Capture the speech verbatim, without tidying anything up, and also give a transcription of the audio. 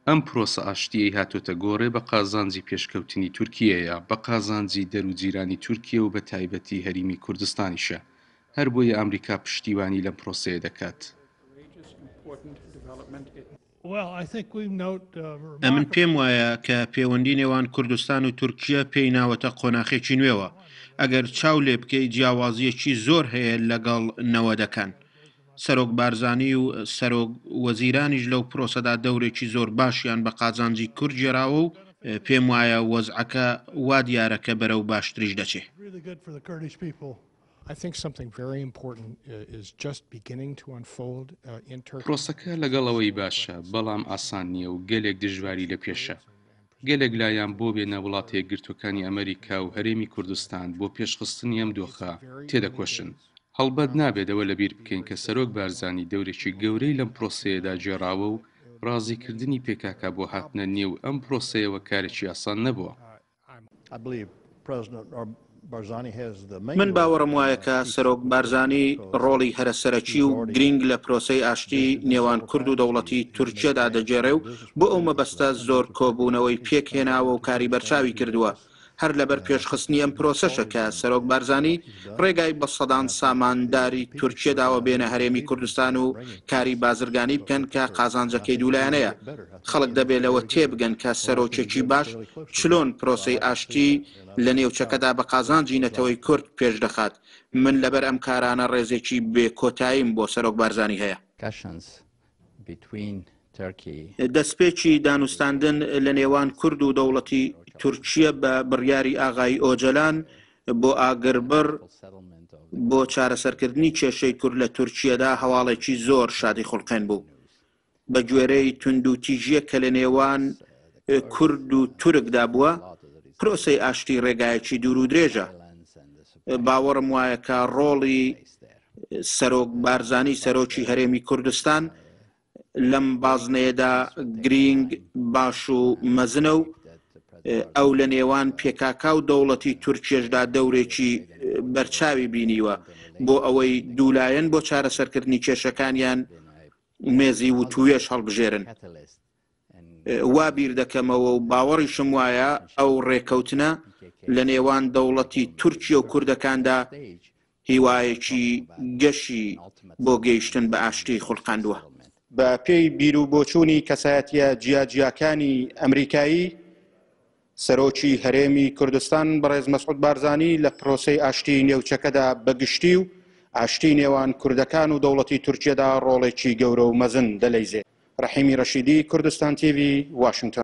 ئەم پرۆسە ئاشتییەی هاتۆتە گۆڕێ بە قازانجی پێشکەوتنی تورکیەیە، بە قازانجی دەر و جیرانی تورکیە و بە تایبەتی هەریمی کوردستانیشە. هەر بۆیە ئامریکا پشتیوانی لەم پرۆسەیە دەکات. ئەمن پێم وایە کە پێوەندی نێوان کوردستان و تورکیە پێی ناوەتە قۆناخێکی نوێوە. ئەگەر چاو لێ بکەی جیاوازییەکی زۆر هەیە لەگەڵ نەوەدەکان. سەرۆک بارزانی و سەرۆک وەزیرانیش لەو پرۆسەدا دەورێکی زۆر باشیان بە قازانجی کورد گێراوە و پێم وایە وەزعەکە وا دیارە کە بەرەو باشتریش دەچێ. پرۆسەکە لەگەڵ ئەوەی باشە، بەڵام ئاسان نییە و گەلێک دژواری لە پێشە. گەلێک لایەن بۆ وێنە وڵاتە یەکگرتووەکانی ئەمریکا و هەرێمی کوردستان بۆ پێشخستنی ئەم دۆخە تێدەکۆشن. هەڵبەت نابێت ئەوە لەبیر بکەین کە سەرۆک بارزانی دەورێکی گەورەی لەم پرۆسەیەدا گێڕاوە و ڕازیکردنی پێکاکا بۆ هاتنە نێو ئەم پرۆسەیەوە کارێکی ئاسان نەبووە. من باوەڕم وایە کە سەرۆک بارزانی ڕۆڵی هەرە سەرەکی و گرینگ لە پرۆسەی ئاشتی نێوان کورد و دەوڵەتی تورکیەدا دەگێڕێ و بۆ ئەو مەبەستە زۆر کۆبوونەوەی پێک هێناوە و کاری بەرچاوی کردووە. هەر لەبەر پێشخستنی ئەم پرۆسەشە کە سەرۆک بارزانی ڕێگای بە سەدان سامانداری تورکیە داوە بێنە هەرێمی کوردستان و کاری بازرگانی بکەن کە قازانجەکەی دوولایەنەیە. خەڵک دەبێ لەوە تێبگەن کە سەرۆکێکی باش چلۆن پرۆسەی ئاشتی لە نێوچەکەدا بە قازانجی نەتەوەی کورد پێش دەخات. من لەبەر ئەم کارانە ڕێزێکی بێ کۆتاییم بۆ سەرۆک بارزانی هەیە. دەسپێکی دانوستاندن لە نێوان کورد و دەوڵەتی تورکیە بە بڕیاری ئاغای ئۆجەلان بۆ ئاگربڕ بۆ چارەسەرکردنی کێشەی کورد لە تورکیەدا هەواڵێکی زۆر شادی خوڵقێن بوو. بە گوێرەی توندوتیژییەک کە لە نێوان کورد و تورکدا بووە، پرۆسەی ئاشتی ڕێگایەکی دوور و درێژە. باوەڕم وایە کە ڕۆڵی سەرۆک بارزانی سەرۆکی هەرێمی کوردستان لەم بازنەیەدا گرینگ، باش و مەزنە و ئەو لە نێوان پێکاکا و دەوڵەتی تورکیەشدا دەورێکی بەرچاوی بینیوە بۆ ئەوەی دوولایەن بۆ چارەسەرکردنی کێشەکانیان مێزی وتووێژ هەڵبژێرن. وا بیر دەکەمەوە و باوەڕیشم وایە ئەو ڕێکەوتنە لە نێوان دەوڵەتی تورکیە و کوردەکاندا هیوایەکی گەشی بۆ گەیشتن بە ئاشتی خولقاندووە. بە پێی بیر و بۆچوونی کەسایەتییە جیاجیاکانی ئەمریکایی، سەرۆکی هەرێمی کوردستان بەڕێز مەسعود بارزانی لە پرۆسەی ئاشتیی نێوچەکەدا بە گشتی و ئاشتیی نێوان کوردەکان و دەوڵەتی تورکیەدا ڕۆڵێکی گەورە و مەزن دەلەیزێ. ڕەحیمی ڕەشیدی، کوردستان تیڤی، واشنگتۆن.